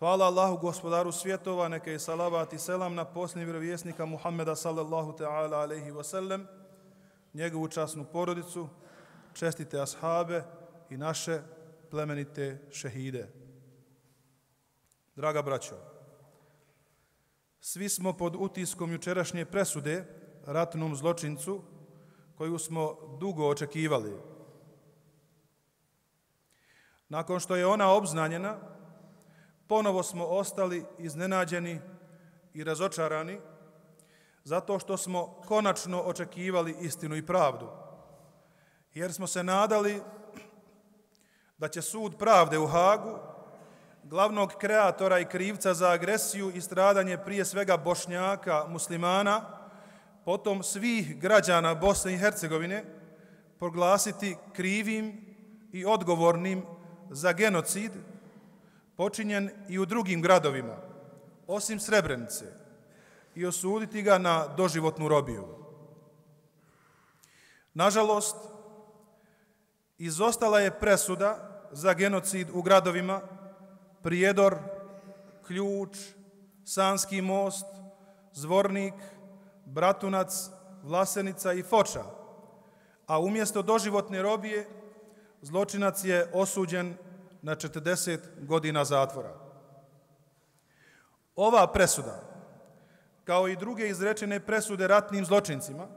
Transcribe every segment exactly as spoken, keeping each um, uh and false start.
Hvala Allahu gospodaru svjetova, neka je salavat i selam na posljednjeg vjerovjesnika Muhammeda sallallahu ta'ala alaihi wa sallam, njegovu časnu porodicu, čestite ashabe i naše plemenite šehide. Draga braćo, svi smo pod utiskom jučerašnje presude ratnom zločincu koju smo dugo očekivali. Nakon što je ona obznanjena, ponovo smo ostali iznenađeni i razočarani zato što smo konačno očekivali istinu i pravdu, jer smo se nadali da će sud pravde u Hagu, glavnog kreatora i krivca za agresiju i stradanje prije svega Bošnjaka, muslimana, potom svih građana Bosne i Hercegovine, proglasiti krivim i odgovornim za genocid počinjen i u drugim gradovima, osim Srebrenice, i osuditi ga na doživotnu robiju. Nažalost, izostala je presuda za genocid u gradovima Prijedor, Ključ, Sanski most, Zvornik, Bratunac, Vlasenica i Foča, a umjesto doživotne robije zločinac je osuđen na četrdeset godina zatvora. Ova presuda, kao i druge izrečene presude ratnim zločincima,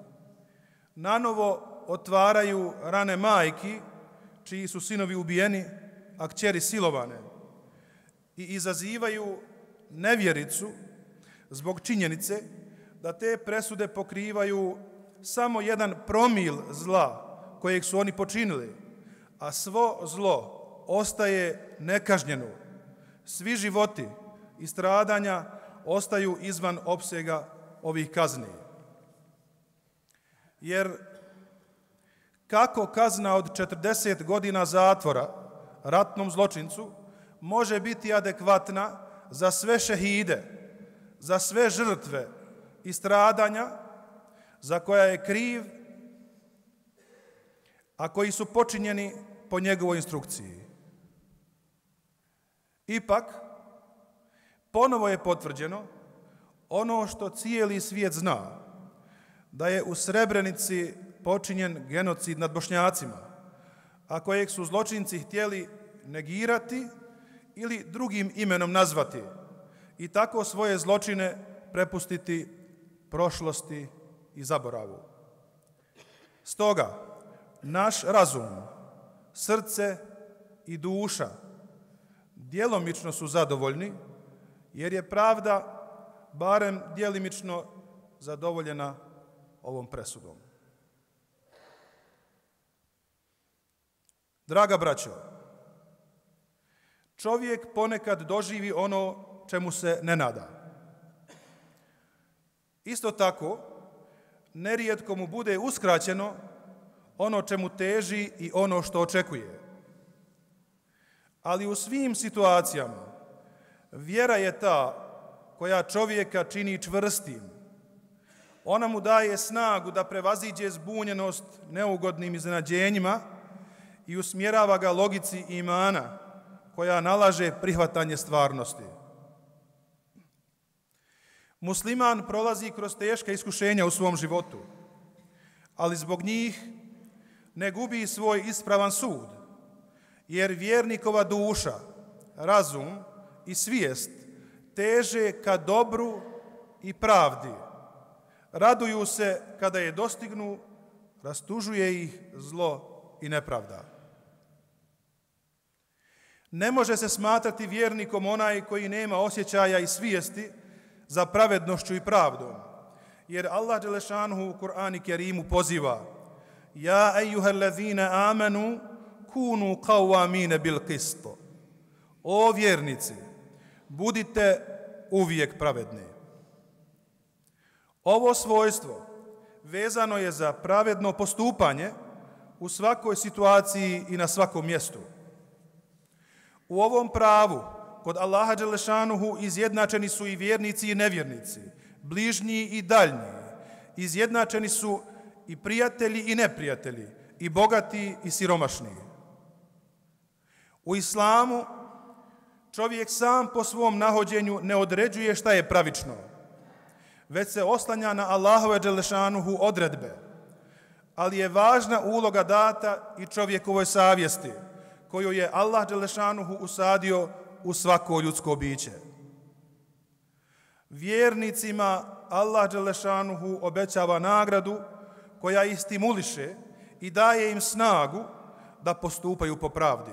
nanovo otvaraju rane majki čiji su sinovi ubijeni, a kćeri silovane, i izazivaju nevjericu zbog činjenice da te presude pokrivaju samo jedan promil zla kojeg su oni počinili, a svo zlo ostaje nekažnjeno. Svi životi i stradanja ostaju izvan opsega ovih kazni. Jer kako kazna od četrdeset godina zatvora ratnom zločincu može biti adekvatna za sve šehide, za sve žrtve i stradanja za koja je kriv, a koji su počinjeni po njegovoj instrukciji. Ipak, ponovo je potvrđeno ono što cijeli svijet zna, da je u Srebrenici počinjen genocid nad Bošnjacima, a kojeg su zločinci htjeli negirati ili drugim imenom nazvati i tako svoje zločine prepustiti prošlosti i zaboravu. Stoga, naš razum, srce i duša djelomično su zadovoljni, jer je pravda barem djelimično zadovoljena ovom presudom. Draga braćo, čovjek ponekad doživi ono čemu se ne nada. Isto tako, nerijetko mu bude uskraćeno ono čemu teži i ono što očekuje. Ali u svim situacijama vjera je ta koja čovjeka čini čvrstim. Ona mu daje snagu da prevaziđe zbunjenost neugodnim iznenađenjima i usmjerava ga logici imana koja nalaže prihvatanje stvarnosti. Musliman prolazi kroz teška iskušenja u svom životu, ali zbog njih ne gubi svoj ispravan sud, jer vjernikova duša, razum i svijest teže ka dobru i pravdi. Raduju se kada je dostignu, rastužuje ih zlo i nepravda. Ne može se smatrati vjernikom onaj koji nema osjećaja i svijesti za pravednošću i pravdom, jer Allah dželešanuhu u Kur'anu Kerimu poziva: Ja ejuhellezina amanu kunu qawwamina bil qist. O vjernici, budite uvijek pravedni. Ovo svojstvo vezano je za pravedno postupanje u svakoj situaciji i na svakom mjestu. U ovom pravu kod Allaha dželešanuhu izjednačeni su i vjernici i nevjernici, bližnji i daljnji. Izjednačeni su i prijatelji i neprijatelji, i bogati i siromašni. U islamu čovjek sam po svom nahođenju ne određuje šta je pravično, već se oslanja na Allahove dželešanuhu odredbe, ali je važna uloga data i čovjekovoj savjesti, koju je Allah dželešanuhu usadio u svako ljudsko biće. Vjernicima Allah dželešanuhu obećava nagradu koja ih stimuliše i daje im snagu da postupaju po pravdi.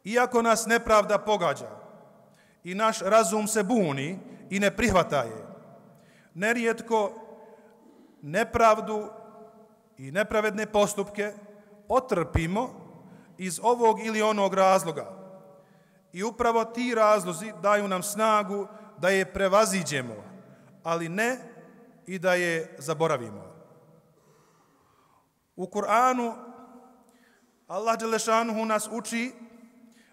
Iako nas nepravda pogađa i naš razum se buni i ne prihvata je, nerijetko nepravdu i nepravedne postupke otrpimo iz ovog ili onog razloga. I upravo ti razlozi daju nam snagu da je prevaziđemo, ali ne i da je zaboravimo. U Kur'anu Allah dželešanuhu nas uči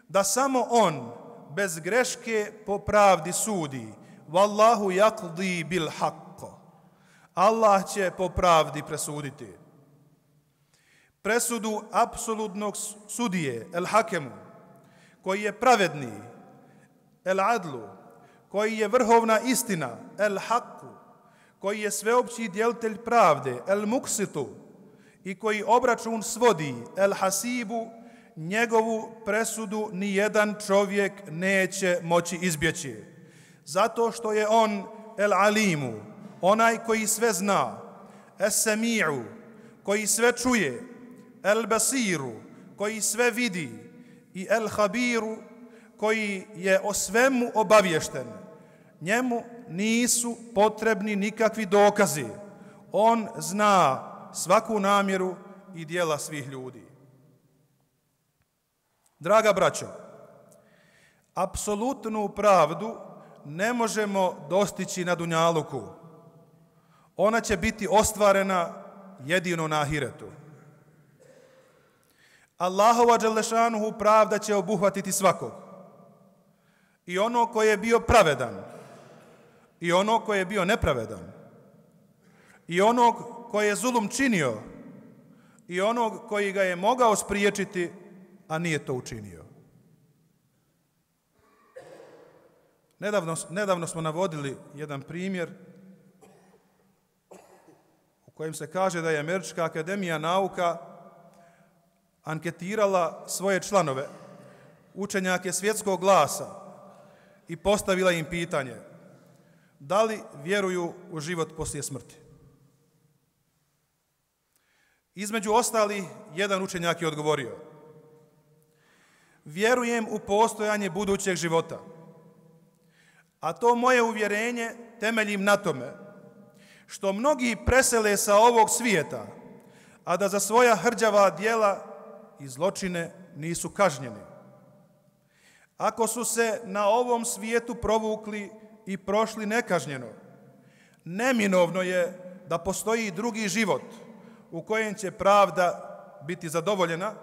da samo on bez greške po pravdi sudi. Wallahu yaqdi bil haqq. Allah će po pravdi presuditi. Presudu apsolutnog sudije, el hakemu, koji je pravedni, el adlu, koji je vrhovna istina, el haqqu, koji je sveopći djelitelj pravde, el muksitu, i koji obračun svodi, el hasibu, njegovu presudu ni jedan čovjek neće moći izbjeći. Zato što je on el alimu, onaj koji sve zna, es sami'u, koji sve čuje, el basiru, koji sve vidi, i el habiru, koji je o svemu obavješten. Njemu nisu potrebni nikakvi dokazi. On zna svaku namjeru i djela svih ljudi. Draga braćo, apsolutnu pravdu ne možemo dostići na dunjaluku. Ona će biti ostvarena jedino na ahiretu. Allahova dželešanuhu pravda će obuhvatiti svakog. I ono koji je bio pravedan, i ono koji je bio nepravedan, i onog koji je zulum činio, i onog koji ga je mogao spriječiti, a nije to učinio. Nedavno, nedavno smo navodili jedan primjer u kojem se kaže da je Američka akademija nauka anketirala svoje članove, učenjake svjetskog glasa, i postavila im pitanje: da li vjeruju u život poslije smrti? Između ostali, jedan učenjak je odgovorio: vjerujem u postojanje budućeg života, a to moje uvjerenje temeljim na tome što mnogi presele sa ovog svijeta, a da za svoja hrđava djela i zločine nisu kažnjeni. Ako su se na ovom svijetu provukli i prošli nekažnjeno, neminovno je da postoji drugi život u kojem će pravda biti zadovoljena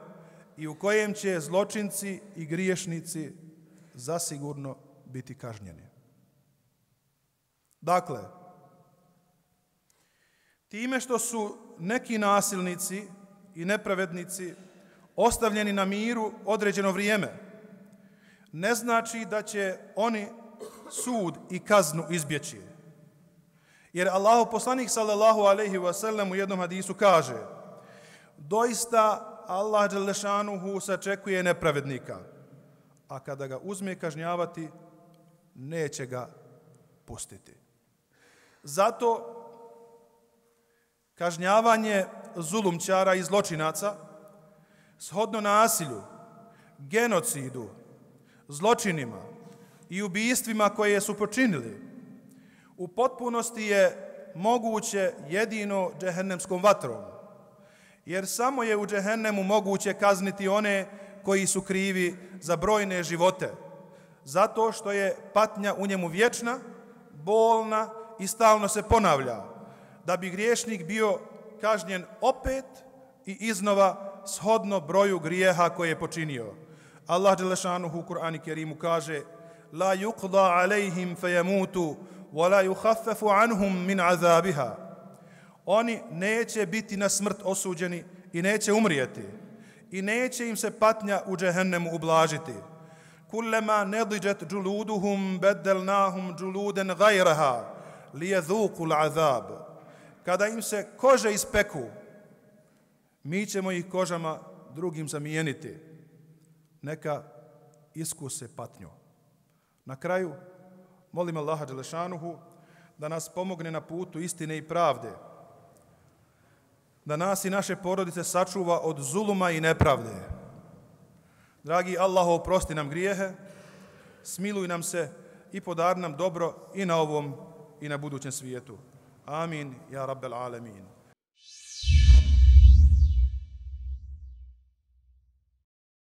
i u kojem će zločinci i griješnici zasigurno biti kažnjeni. Dakle, time što su neki nasilnici i nepravednici ostavljeni na miru određeno vrijeme, ne znači da će oni sud i kaznu izbjeći. Jer Allahov poslanik sallallahu alejhi ve sellem u jednom hadisu kaže: doista Allah dželešanuhu sačekuje nepravednika, a kada ga uzme kažnjavati, neće ga pustiti. Zato kažnjavanje zulumčara i zločinaca shodno nasilju, genocidu, zločinima i ubijstvima koje su počinili u potpunosti je moguće jedino džehennemskom vatrom, jer samo je u džehennemu moguće kazniti one koji su krivi za brojne živote, zato što je patnja u njemu vječna, bolna i stalno se ponavlja, da bi griješnik bio kažnjen opet i iznova shodno broju grijeha koje je počinio. Allah dželešanuhu u Kur'anu Kerimu kaže: la yuqda alejhim fejemutu wa la yukhaffafu anhum min azabiha. Oni neće biti na smrt osuđeni i neće umrijeti i neće im se patnja u džehennemu ublažiti. kullama nadiđet džuluduhum beddelnahum džuluden gajraha lijedhuku l'azab. Kada im se kože ispeku, mi ćemo ih kožama drugim zamijeniti. Neka iskuse patnju. Na kraju, molim Allaha dželešanuhu da nas pomogne na putu istine i pravde, da nas i naše porodice sačuva od zuluma i nepravde. Dragi Allah, oprosti nam grijehe, smiluj nam se i podari nam dobro i na ovom i na budućem svijetu. Amin, ja rabbel alemin.